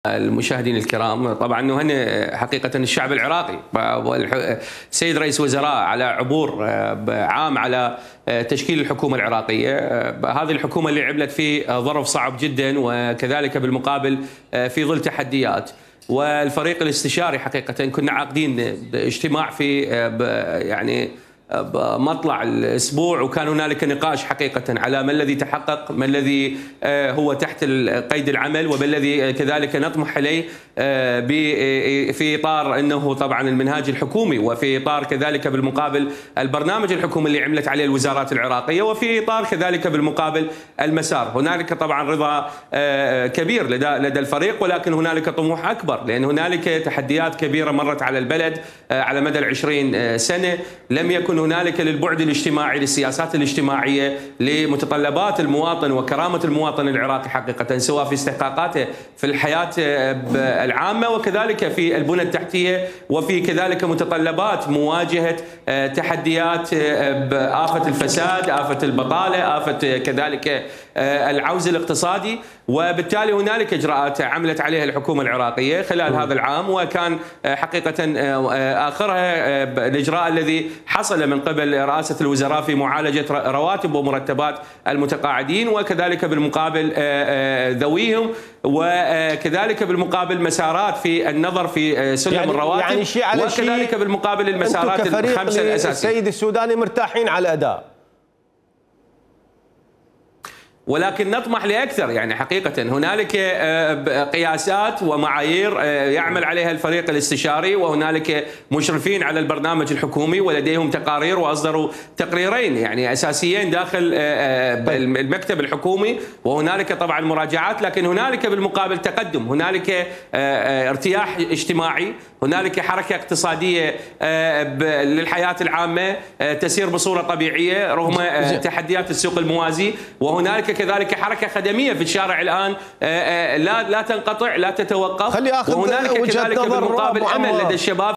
المشاهدين الكرام، طبعا نهنئ حقيقة الشعب العراقي السيد رئيس وزراء على عبور عام على تشكيل الحكومة العراقية. هذه الحكومة اللي عملت في ظرف صعب جدا، وكذلك بالمقابل في ظل تحديات. والفريق الاستشاري حقيقة كنا عاقدين اجتماع في يعني بمطلع الاسبوع، وكان هنالك نقاش حقيقه على ما الذي تحقق، ما الذي هو تحت قيد العمل، وما الذي كذلك نطمح اليه في اطار انه طبعا المنهاج الحكومي، وفي اطار كذلك بالمقابل البرنامج الحكومي اللي عملت عليه الوزارات العراقيه، وفي اطار كذلك بالمقابل المسار. هنالك طبعا رضا كبير لدى الفريق، ولكن هنالك طموح اكبر، لان هنالك تحديات كبيره مرت على البلد على مدى 20 سنه. لم يكن هنالك للبعد الاجتماعي، للسياسات الاجتماعيه، لمتطلبات المواطن وكرامه المواطن العراقي حقيقه، سواء في استحقاقاته في الحياه العامه، وكذلك في البنى التحتيه، وفي كذلك متطلبات مواجهه تحديات آفة الفساد، آفة البطاله، آفة كذلك العوز الاقتصادي. وبالتالي هنالك اجراءات عملت عليها الحكومه العراقيه خلال هذا العام، وكان حقيقه اخرها الاجراء الذي حصل من قبل رئاسه الوزراء في معالجه رواتب ومرتبات المتقاعدين، وكذلك بالمقابل ذويهم، وكذلك بالمقابل مسارات في النظر في سلم الرواتب، وكذلك بالمقابل المسارات الخمسه الاساسيه. السيد السوداني مرتاحين على الاداء، ولكن نطمح لأكثر. يعني حقيقة هنالك قياسات ومعايير يعمل عليها الفريق الاستشاري، وهنالك مشرفين على البرنامج الحكومي، ولديهم تقارير، وأصدروا تقريرين يعني أساسيين داخل المكتب الحكومي، وهنالك طبعا مراجعات، لكن هنالك بالمقابل تقدم، هنالك ارتياح اجتماعي، هنالك حركة اقتصادية للحياة العامة تسير بصورة طبيعية رغم تحديات السوق الموازي، وهنالك كذلك حركة خدمية في الشارع الآن لا تنقطع، لا تتوقف، وهنالك كذلك بالمقابل أمل لدى الشباب